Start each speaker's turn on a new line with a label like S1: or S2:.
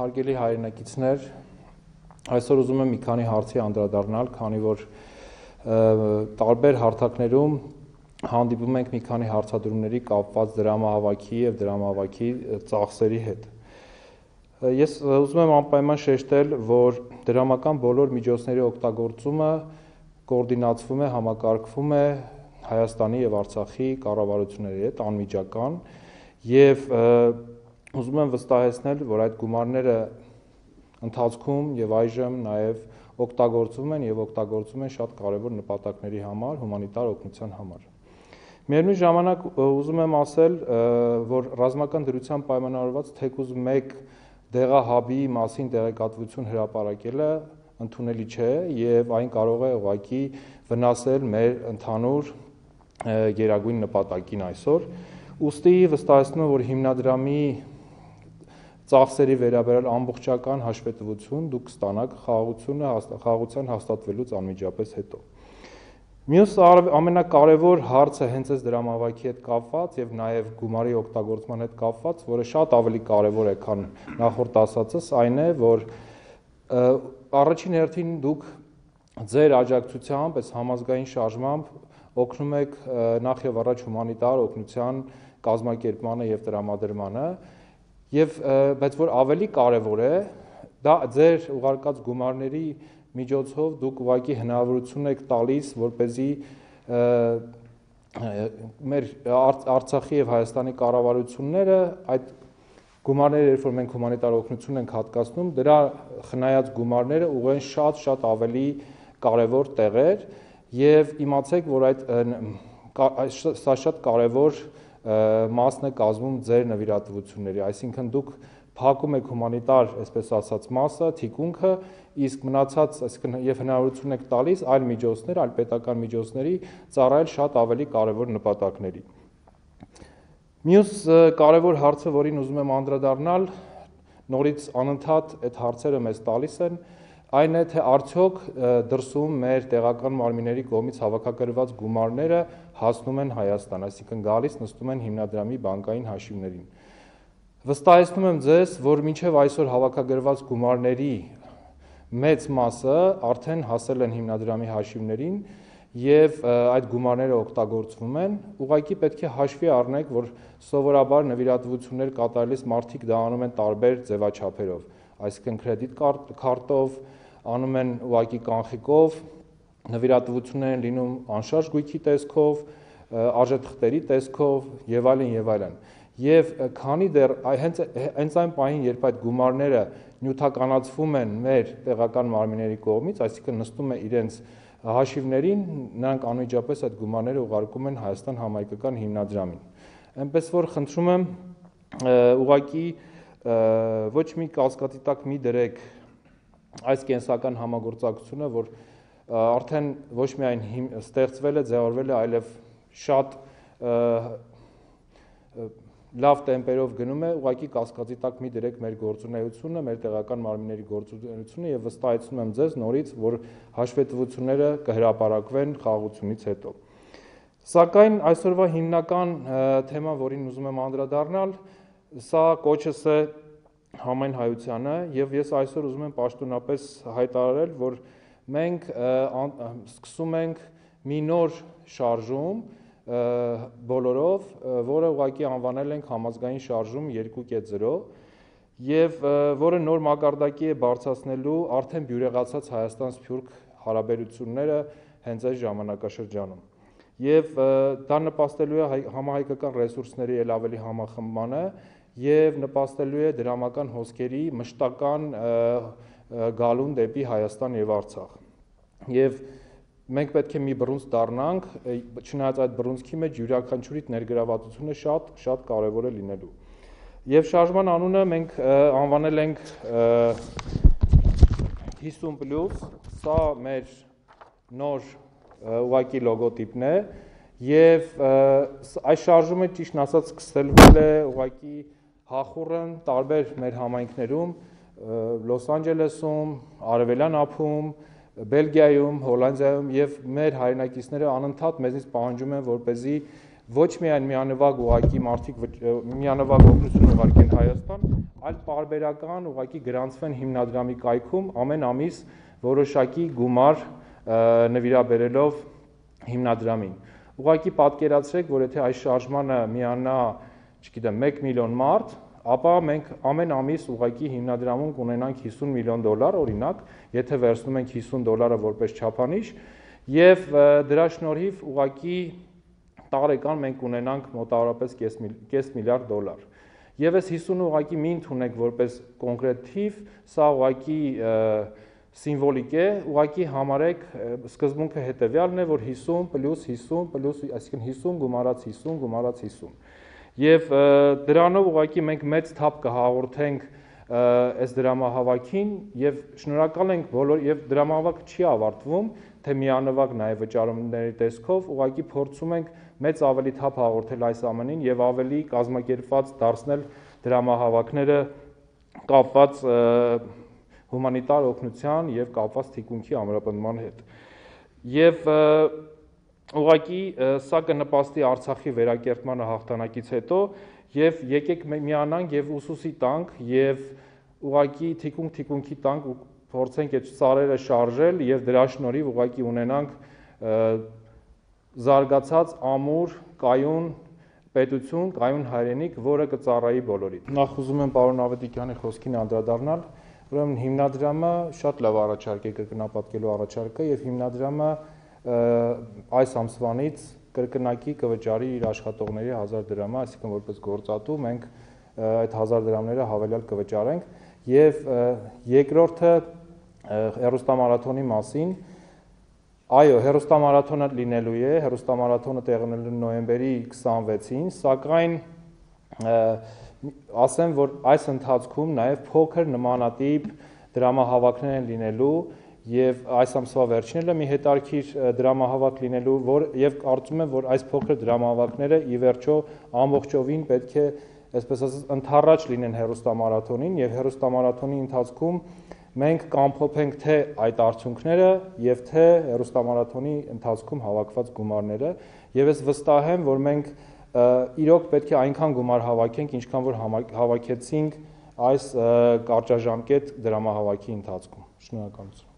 S1: Հարգելի հայրենակիցներ, այսօր ուզում եմ մի քանի հարցի անդրադառնալ, քանի որ տարբեր հարթակներում հանդիպում ենք մի քանի հարցադրումների կապված դրամահավաքի եւ դրամահավաքի ծախսերի հետ։ Ես ուզում եմ անպայման շեշտել, որ դրամական բոլոր միջոցների օգտագործումը կոորդինացվում է, համակարգվում է Հայաստանի եւ Արցախի կառավարությունների հետ անմիջական եւ ուզում եմ վստահեցնել, որ այդ գումարները ընթացքում եւ այժմ նաեւ օգտագործվում են եւ օգտագործվում են շատ կարեւոր նպատակների համար, հումանիտար օգնության համար։ Միևնույն ժամանակ ուզում եմ ասել, որ ռազմական դրությամբ պայմանավորված թեկուզ մեկ դեղահաբի մասին տեղեկատվություն հրապարակելը ընդունելի չէ եւ այն կարող է ուղղակի վնասել մեր ընդհանուր գերագույն նպատակին այսօր։ Ուստի վստահեցնում եմ, որ հիմնադրամի ծախսերի վերաբերյալ ամբողջական հաշվետվություն դուք կստանաք խաղաղության հաստատվելուց անմիջապես հետո։ Մյուս ամենակարևոր հարցը հենց այս դրամահավաքի հետ կապված եւ նաեւ գումարի օգտագործման հետ կապված, որը շատ ավելի կարևոր է, քան նախորդ ասածս, այն է, որ առաջին հերթին դուք ձեր աջակցությամբ, այս համազգային շարժմամբ օգնում եք նախ եւ առաջ հումանիտար օգնության կազմակերպմանը եւ տրամադրմանը, բայց որ ավելի կարևոր է, դա ձեր ուղարկած գումարների միջոցով դուք ուղղակի հնարավորություն եք տալիս, որպեսզի մեր Արցախի եւ Հայաստանի կառավարությունները այդ գումարները, երբ որ մենք հումանիտար օգնություն ենք հատկացնում, դրա խնայած գումարները ուղղեն շատ ավելի կարևոր տեղեր եւ իմացեք, որ սա շատ կարևոր մասն է կազմում ձեր նվիրատվությունների, այսինքն դուք փակում եք հումանիտար, այսպես ասած, մասը, թիկունքը, իսկ մնացած, այսինքն եւ հնարավորություն եք տալիս այլ միջոցներ, այլ պետական միջոցների ծառայել շատ ավելի կարևոր նպատակների։ Մյուս կարևոր հարցը, որին ուզում եմ անդրադառնալ, նորից անընդհատ այդ հարցերը մեզ տալիս են, այն է, թե արդյոք դրսում մեր տեղական մարմինների կողմից հավաքագրված գումարները հասնում են Հայաստան, այսինքն գալիս նստում են հիմնադրամի բանկային հաշիվներին։ Վստահեցնում եմ ձեզ, որ մինչև այսօր հավաքագրված գումարների մեծ մասը արդեն հասել են հիմնադրամի հաշիվներին եւ այդ գումարները օգտագործվում են, ուղղակի պետք է հաշվի առնեք, որ սովորաբար նվիրատվություններ կատարելիս մարդիկ դա անում են տարբեր ձևաչափերով, այսինքն կրեդիտ քարտով, անում են ուղղակի կանխիկով, նվիրատվություններ են լինում անշարժ գույքի տեսքով, արժեթղթերի տեսքով եւ այլն։ Եվ քանի դեռ հենց այն պահին, երբ այդ գումարները նյութականացվում են մեր տեղական մարմինների կողմից, այսինքն նստում է իրենց հաշիվներին, նրանք անմիջապես այդ գումարները ուղարկում են Հայաստան համահայկական հիմնադրամին։ Այնպես որ խնդրում եմ ուղղակի ոչ մի կասկածի տակ մի դրեք այս կենսական համագործակցությունը, որ արդեն ոչ միայն ստեղծվել է, ձևավորվել է, այլև շատ լավ տեմպերով գնում է, ուղղակի կասկածի տակ մի դրեք մեր գործունեությունը, մեր տեղական մարմինների գործունեությունը եւ վստահեցնում եմ ձեզ նորից, որ հաշվետվությունները կհրապարակվեն խաղաղությունից հետո։ Սակայն այսօրվա հիմնական թեման, որին ուզում եմ անդրադառնալ, սա կոչս է համայն հայությանը եւ ես այսօր ուզում եմ պաշտոնապես հայտարարել, որ մենք սկսում ենք մի նոր շարժում բոլորով, որը ուղղակի անվանել ենք համազգային շարժում 2.0 եւ որը նոր մակարդակի է բարձրացնելու արդեն բյուրեղացած Հայաստան-Սփյուռք հարաբերությունները հենց այս ժամանակաշրջանում։ Եվ դա նպաստելու է համահայկական ռեսուրսների ել ավելի համախմբմանը եւ նպաստելու է դրամական հոսքերի մշտական գալուն դեպի Հայաստան եւ Արցախ։ Եվ մենք պետք է մի բռունց դառնանք, չնայած այդ բռունցքի մեջ յուրաքանչյուրի ներգրավվածությունը շատ կարևոր է լինելու։ Եվ շարժման անունը մենք անվանել ենք 50+, սա մեր նոր ուղղակի լոգոտիպն է եւ այս շարժումը ճիշտն ասած սկսվել է ուղղակի հախուռն տարբեր մեր համայնքներում, Լոս Անջելեսում, Արևելյան ափում, Բելգիայում, Հոլանդիայում եւ մեր հայրենակիցները անընդհատ մեզնից պահանջում են, որպեսզի ոչ միայն միանվագ ուղղակի մարդիկ միանվագ օգնություն ուղարկեն Հայաստան, այլ պարբերական ուղղակի գրանցվեն հիմնադրամի կայքում ամեն ամիս որոշակի գումար նվիրաբերելով հիմնադրամին։ Ուղղակի պատկերացրեք, որ եթե այս շարժմանը միանա, չգիտեմ, 1 միլիոն մարդ, ապա մենք ամեն ամիս ուղղակի հիմնադրամում կունենանք $50 միլիոն, օրինակ, եթե վերցնում ենք $50 որպես չափանիշ, եւ դրա շնորհիվ ուղղակի տարեկան մենք ունենանք մոտավորապես $0.5 միլիարդ։ Եվ այս 50-ը ուղղակի մի ընդունեք որպես կոնկրետ թիվ, սա ուղղակի սիմվոլիկ է, ուղղակի համարեք սկզբունքը հետևյալն է, որ 50 + 50 +, այսինքն 50 գումարած 50 գումարած 50։ Եվ դրանով ուղղակի մենք մեծ թափ կհաղորդենք այս դրամահավաքին եւ շնորհակալ ենք բոլոր եւ դրամահավաքը չի ավարտվում, թե միանվագ նաեւ վճարումների տեսքով, ուղղակի փորձում ենք մեծ ավելի թափ հաղորդել այս ամենին եւ ավելի կազմակերպված դարձնել դրամահավաքները կապված հումանիտար օգնության եւ կապված թիկունքի ամրապնդման հետ։ Եվ ուղղակի սա կնպաստի Արցախի վերակերտմանը հաղթանակից հետո եւ եկեք միանանք եւ ուսուսի տանք եւ ուղղակի թիկունքի տանք ու փորձենք այդ սարերը շարժել եւ դրա շնորհիվ ուղղակի ունենանք զարգացած ամուր կայուն պետություն, կայուն հայրենիք, որը կծառայի բոլորին։ Նախ ուզում եմ պարոն Ավետիքյանի խոսքին անդրադառնալ, ուրեմն հիմնադրամը շատ լավ առաջարկ է կրկնապատկելու առաջարկը եւ հիմնադրամը այս ամսվանից կրկնակի կվճարի իր աշխատողների 1000 դրամը, այսինքն որպես գործատու մենք այդ 1000 դրամները հավելյալ կվճարենք եւ երկրորդը հերոստամարաթոնի մասին։ Այո, հերոստամարաթոնը լինելու է, հերոստամարաթոնը տեղի ունենալու նոյեմբերի 26-ին, սակայն ասեմ, որ այս ընթացքում նաև փոքր նմանատիպ դրամահավաքներ են լինելու եւ այս ամսվա վերջինը մի հետարքիր դրամահավաք լինելու, եւ կարծում եմ, որ այս փոքր դրամահավաքները ի վերջո ամբողջովին պետք է, այսպես ասած, ընդառաջ լինեն հերոստամարաթոնին եւ հերոստամարաթոնի ընթացքում մենք կամփոփենք թե այդ արդյունքները եւ թե հերոստամարաթոնի ընթացքում հավաքված գումարները եւ ես վստահ եմ, որ մենք իրոք պետք է այնքան գումար հավաքենք, ինչքան որ հավաքեցինք այս կարճաժամկետ դրամահավաքի ընթացքում։ Շնորհակալություն։